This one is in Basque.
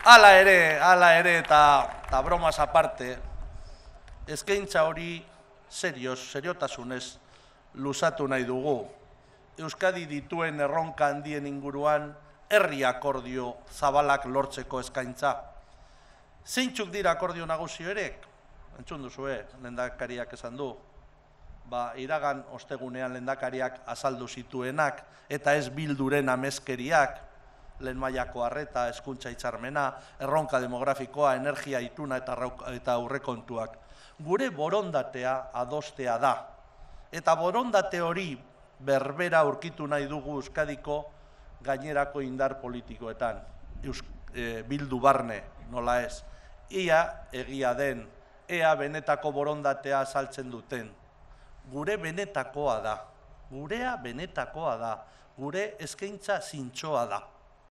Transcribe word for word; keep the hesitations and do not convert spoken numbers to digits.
Hala ere, hala ere, eta bromas aparte, eskaintza hori serioz, seriotasunez luzatu nahi dugu. Euskadi dituen erronka handien inguruan herri akordio zabalak lortzeko eskaintza. Zeintzuk dira akordio nagusi horiek? Entzun duzue, lehendakariak esan du. Ba, iragan ostegunean lehendakariak azaldu zituenak, eta ez bilduren ameskeriak, lehen mailako arreta, hezkuntza hitzarmena, erronka demografikoa, energia ituna eta aurrekontuak. Gure borondatea adostea da. Eta borondate hori berbera aurkitu nahi dugu Euskadiko gainerako indar politikoetan. Bildu barne, nola ez. Ia egia den, ea benetako borondatea azaltzen duten. Gure benetakoa da. Gurea benetakoa da. Gure eskaintza zintzoa da.